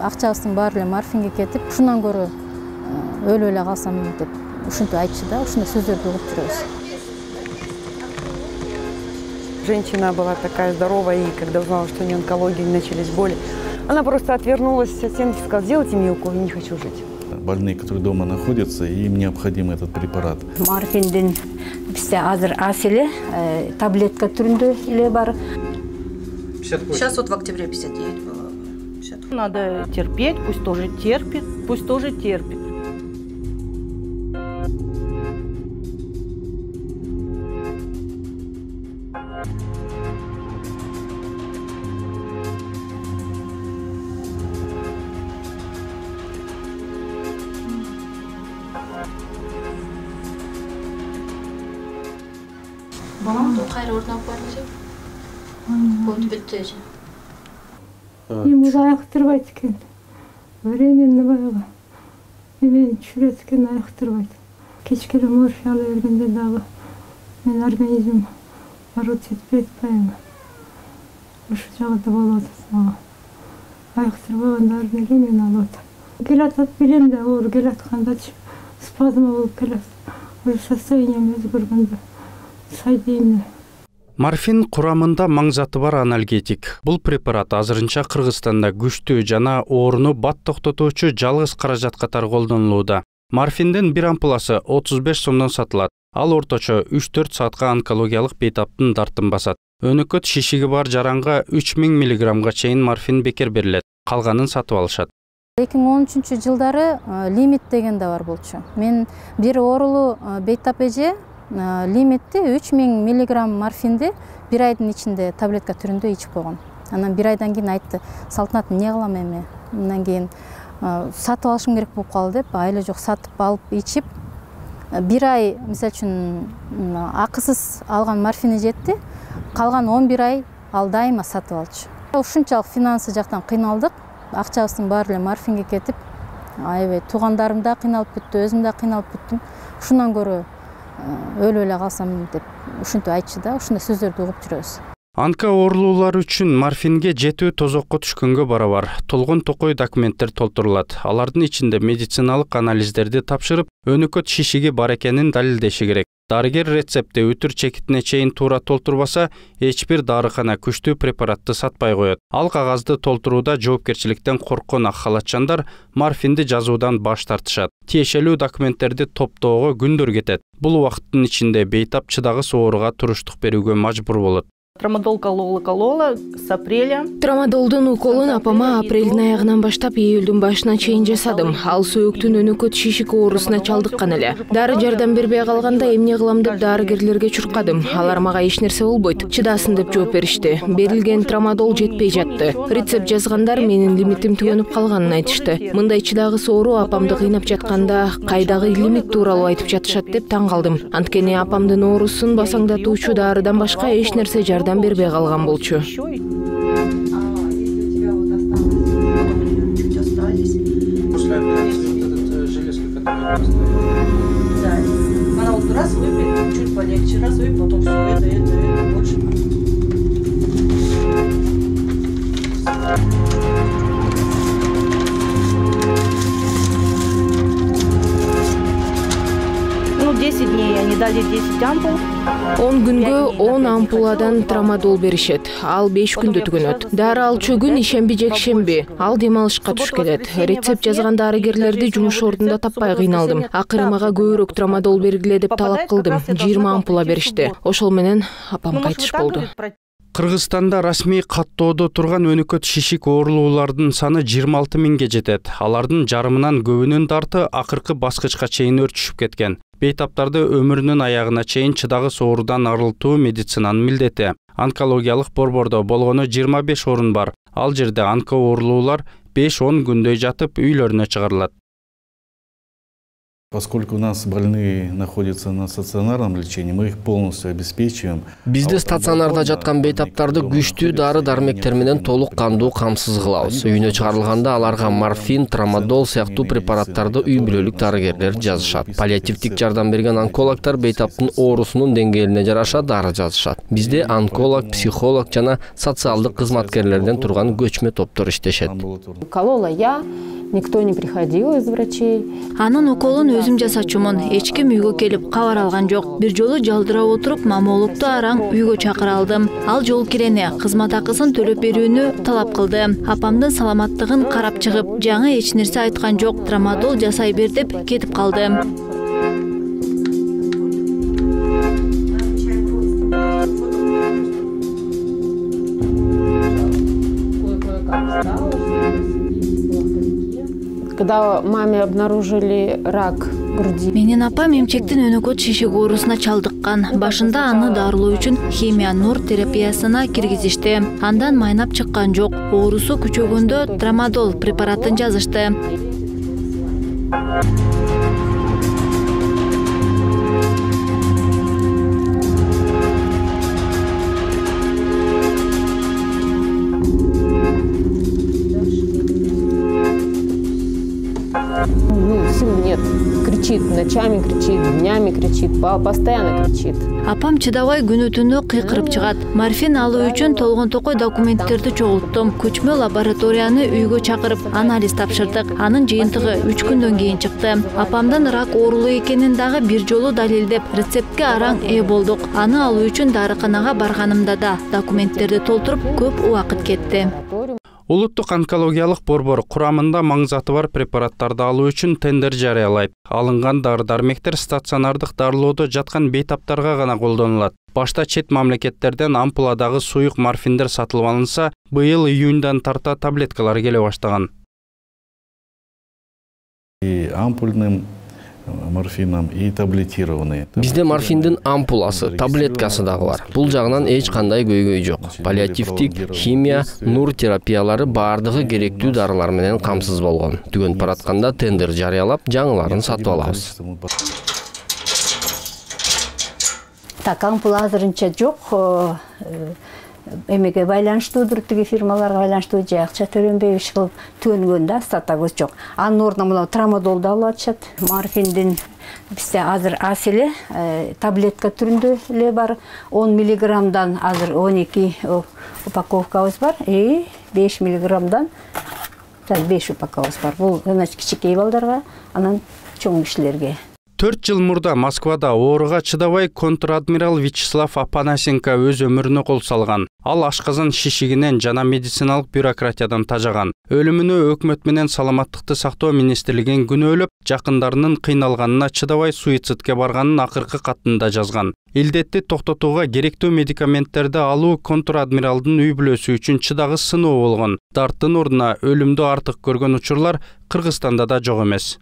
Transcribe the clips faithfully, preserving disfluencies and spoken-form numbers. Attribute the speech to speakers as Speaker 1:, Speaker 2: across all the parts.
Speaker 1: акчабыздын баары эле морфинге кетип, ушундан көрө өлүп эле калсам деп ушинтип айтчу да, ушундай сөздөрдү угуп жүрөбүз.
Speaker 2: Женщина была такая здоровая, и когда узнала, что у нее онкология, начались боли, она просто отвернулась от стенки и сказала: сделайте мне укол, я не хочу жить.
Speaker 3: Больные, которые дома находятся, им необходим этот препарат.
Speaker 4: Морфиндин бизде азыр аз эле таблетка түрүндө эле бар.
Speaker 5: Сейчас вот в октябре пятьдесят девять было.
Speaker 2: Надо терпеть, пусть тоже терпит, пусть тоже терпит.
Speaker 5: Балам кайра ордунап барчы. Вот бүтчү.
Speaker 6: Эми уже айыктырбайт экен. Временно баягы. Эми түшүрөт экен, айыктырбайт. Кечке эле морфий ала бергенде дагы менин организмим арут жетпей атпайбы. Ушул жагда болуп атат мага. Айыктырбагандарын эле мен алып атам. Келатат билем да, оор келаткандачы спазма болуп келат. Ошо состоянием өзгөргөндө сай дейм.
Speaker 7: Морфин курамында маң заты бар анальгетик. Бул препарат азырынча Кыргызстанда күчтүү жана ооруну бат токтотуучу жалгыз каражат катары колдонулууда. Морфиндин бир ампуласы отуз беш сомдон сатылат. Ал орточо үч төрт саатка онкологиялык бейтаптын дартын басат. Өнөкөт шишиги бар жаранга үч миң миллиграммга чейин морфин бекер берилет. Калганын сатып алышат.
Speaker 1: эки миң он үчүнчү жылдары лимит деген да бар болчу. Мен бир оорулуу бейтап эже лимитти үч миң миллиграмм морфинди бир айдын ичинде таблетка түрүндө ичип койгон. Анан бир айдан кийин айтты: Салтанат, эмне кылам эми? Андан кийин сатып алышым керек болуп калды деп, айла жок сатып алып ичип, бир ай мисалы үчүн акысыз алган морфини жетти. Калган он бир ай ал дайыма сатып алчу. Ушунчалык финансы жактан кыйналдык. Акчабыздын баары эле морфинге кетип, аябай туугандарым да кыйналып бүттү, өзүм да кыйналып бүттүм. Ушундан көрө өлүп эле калсам деп ушинтип айтчу да, ушундай сөздөрдү угуп жүрөбүз.
Speaker 7: Онко оорулуулар үчүн морфинге жетүү тозокко түшкөнгө барабар толгон токой документтер толтурулат. Алардын ичинде медициналык анализдерди тапшырып, өнөкөт шишиги бар экенин далилдеши керек. Дарыгер рецептти өтүр чекитине чейин туура толтурбаса, эч бир дарыкана күчтүү препаратты сатпай коет. Ал кагазды толтурууда жоопкерчиликтен корккон ак халатчандар морфинди жазуудан баш тартышат. Тиешелүү документтерди топтоого күндөр кетет. Бул убакыттын ичинде бейтап чыдагыс ооруга туруштук берүүгө мажбур болот.
Speaker 2: Трамадол колола колола с апреля.
Speaker 8: Трамадолдун уколун апама апрелдин аягынан баштап июлдун башына чейин жасадым. Ал сөөктүн өнөкөт шишик оорусуна чалдыккан эле. Дары жардам бербей калганда эмне кылам деп дарыгерлерге чуркадым. Алар мага эч нерсе болбойт, чыдасын деп жооп беришти. Берилген трамадол жетпей жатты. Рецепт жазгандар менин лимитим түгөнүп калганын айтышты. Мындай чыдагыс оору апамды кыйнап жатканда кайдагы лимит тууралуу айтып жатышат деп таң калдым. Анткени апамдын оорусун басаңдатуучу дарыдан башка эч нерсе жардам бербей калган болчу.
Speaker 5: Она вот раз выпьет, чуть полегче, раз выпьет, потом все это, это, это, больше.
Speaker 2: Ну, десять дней они дали десять ампул.
Speaker 8: он күнгө он ампуладан трамадол беришет. Ал беш күндө түгөнөт. Дары алчу күн ишемби жекшемби. Ал дем алышка туш келет. Рецепт жазган дарыгерлерди жумуш ордунда таппай кыйналдым. Акыры мага көбүрөөк трамадол бергиле деп талап кылдым. жыйырма ампула беришти. Ошол менен апам кайтыш болду.
Speaker 7: Кыргызстанда расмий каттоодо турган өнөкөт шишик оорулуулардын саны жыйырма алты миңге жетет. Алардын жарымынан көбүнүн дарты акыркы баскычка чейин өрчүшүп кеткен. Бейтаптарды өмүрүнүн аягына чейин чыдагыс оорудан арылтуу медицинанын милдети. Онкологиялык борбордо болгону жыйырма беш орун бар. Ал жерде онко оорулуулар беш он күндөй жатып үйлөрүнө чыгарылат.
Speaker 3: Поскольку у нас больные находятся на стационарном лечении, мы их полностью обеспечиваем.
Speaker 9: Бизде стационарда жаткан бейтаптарды күчтүү дары-дармектер менен толук кандуу камсыз кылабыз. Үйүнө чыгарылганда аларга морфин, трамадол сыяктуу препараттарды үй бүлөлүк дарыгерлер жазышат. Паллиативдик жардам берген онкологдор бейтаптын оорусунун деңгээлине жараша дары жазышат. Бизде онколог, психолог жана социалдык кызматкерлерден турган көчмө топтор иштешет.
Speaker 10: Колола я, никто не приходил из врачей.
Speaker 11: Анын уколун өзүм жасачумун. Эч ким үйгө келип кабар алган жок. Бир жолу жалдырап отуруп маммологду араң үйгө чакыра алдым. Ал жол кирене кызмат акысын төлөп берүүнү талап кылды. Апамдын саламаттыгын карап чыгып, жаңы эч нерсе айткан жок. Трамадол жасай бер деп кетип калды.
Speaker 10: Когда маме обнаружили рак груди.
Speaker 11: Менин апам эмчектин өнөкөт шишик оорусуна чалдыккан. Башында аны дарылоо үчүн химия нур терапиясына киргизишти. Андан майнап чыккан жок. Оорусу күчөгөндө трамадол препаратын жазышты.
Speaker 10: Сил нет. Кричит, ночами кричит, днями кричит, постоянно кричит.
Speaker 11: Апам чыдабай күнү түнү кыйкырып чыгат. Морфин алуу үчүн толгон токой документтерди чогулттум. Көчмө лабораторияны үйгө чакырып, анализ тапшырдык. Анын жыйынтыгы үч күндөн кийин чыкты. Апамдын рак оорулуу экенин дагы бир жолу далилдеп, рецептке араң ээ болдук. Аны алуу үчүн дарыканага барганымда да документтерди толтуруп көп убакыт кетти.
Speaker 7: Улуттук онкологиялык борбор курамында маңызаты бар препараттарды алуу үчүн тендер жарыялайт. Алынган дары-дармектер стационардык дарылоодо жаткан бейтаптарга гана колдонулат. Башта чет мамлекеттерден ампуладагы суюк морфиндер сатылып алынса, быйыл июньдан тарта таблеткалар келе баштаган.
Speaker 3: И ампульным морфином и таблетированный.
Speaker 9: Бизде морфиндин ампуласы, таблеткасы дагы бар. Бул жагынан эч кандай көйгөй жок. Паллиативдик, химия, нур терапиялары бардыгы керектүү дарылар менен камсыз болгон. Түгөнүп баратканда тендер жарыялап, жаңыларын сатып алабыз.
Speaker 4: Так, ампула азырынча жок. Эмеге байланыштуудур, тиги фирмаларга байланыштуу же акча төлөнбөй иш кылып төнгөндө статагыз жок. Анын ордуна мына трамадолду алып атышат. Морфиндин бизде азыр ас эле таблетка түрүндө эле бар. он миллиграммдан азыр он эки упаковкабыз бар. И беш миллиграммдан беш упаковкабыз бар. Бул значит кичинекей балдарга, анан чоң кишилерге.
Speaker 7: төрт жыл мурда Москвада ооруга чыдабай контр-адмирал Вячеслав Апанасенко өз өмүрүнө кол салган. Ал ашказан шишигинен жана медициналык бюрократиядан тажаган. Өлүмүнө өкмөт менен саламаттыкты сактоо министрлигин күнөөлөп, жакындарынын кыйналганына чыдабай суицидке барганын акыркы катында жазган. Илдетти токтотууга керектүү медикаменттерди алуу контр-адмиралдын үй бүлөсү үчүн чыдагыс сыноо болгон. Дарттын ордуна өлүмдү артык көргөн учурлар Кыргызстанда да жок эмес.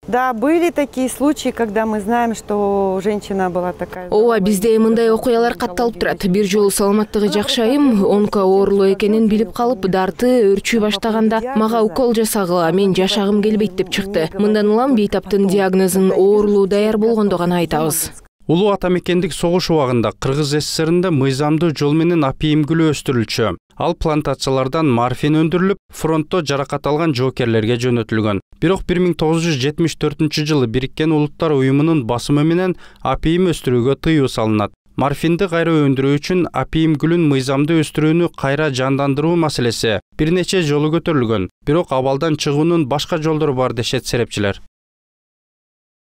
Speaker 2: Да, были такие случаи, когда мы знаем, что женщина была такая.
Speaker 8: Ооба, бизде мындай окуялар катталып турат. Бир жолу саламаттыгы жакшы айым онко оорулуу экенин билип калып, дарты өрчүй баштаганда мага укол жасагыла, мен жашагым келбейт деп чыкты. Мындан улам бейтаптын диагнозун оорулуу даяр болгондо гана айтабыз.
Speaker 7: Улуу ата мекендик согуш убагында Кыргыз СССРинде мыйзамдуу жол менен апийим гүлү өстүрүлчү. Ал плантациялардан морфин өндүрүлүп, фронтто жаракат алган жоокерлерге жөнөтүлгөн. Бирок бир миң тогуз жүз жетимиш төртүнчү жылы Бириккен Улуттар уюмунун басымы менен апийим өстүрүүгө тыюу салынат. Морфинди кайра өндүрүү үчүн апийим гүлүн мыйзамдуу өстүрүүнү кайра жандандыруу маселеси бир нече жолу көтөрүлгөн. Бирок абалдан чыгуунун башка жолдору бар дешет серепчилер.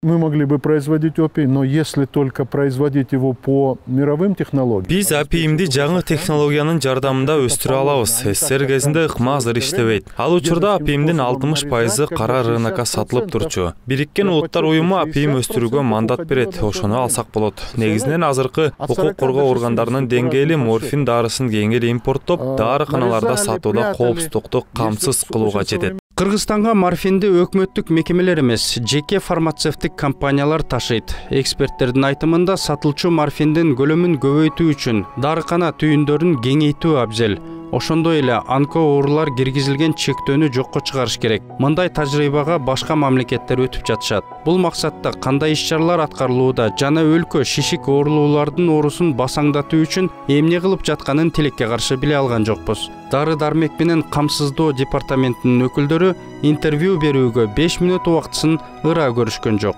Speaker 12: Мы могли бы производить опий, но если только производить его по мировым технологиям.
Speaker 13: Биз апийимди жаңы технологиянын жардамында өстүрө алабыз. СССР кезинде ыкма азыр иштебейт. Ал учурда апийимдин алтымыш пайызы кара рынокко сатылып турчу. Бириккен Улуттар уюму апийим өстүрүүгө мандат берет. Ошону алсак болот. Негизинен азыркы укук коргоо органдарынын деңгээли морфин дарысын кеңири импорттоп, дарыканаларда сатууда коопсуздукту камсыз кылууга жетет.
Speaker 7: Кыргызстанга морфинди өкмөттүк мекемелер эмес, жеке фармацевтик компаниялар ташыйт. Эксперттердин айтымында сатылчу морфиндин көлөмүн көбөйтүү үчүн дарыкана түйүндөрүн кеңейтүү абзел. ошондой эле онко оорулар киргизилген чектөөнү жокко чыгарыш керек. Мындай тажрыйбага башка мамлекеттер өтүп жатышат. Бул максатта кандай иш-чаралар аткарылууда жана өлкө шишик оорулуулардын оорусун басаңдатуу үчүн эмне кылып жатканын тилекке каршы биле алган жокпуз. Дары-дармек менен камсыздоо департаментинин өкүлдөрү интервью берүүгө беш мүнөт убактысын ыраа көрүшкөн жок.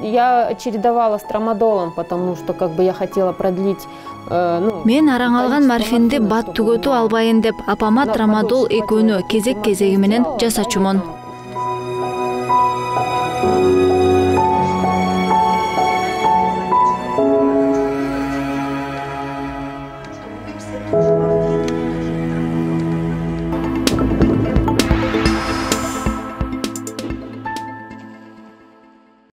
Speaker 10: Я чередовала с трамадолом, потому что как бы я хотела продлить.
Speaker 11: Мен араң алган морфинди бат түгөтүп албайын деп апама трамадол экөөнү кезек-кезеги менен жасачумун.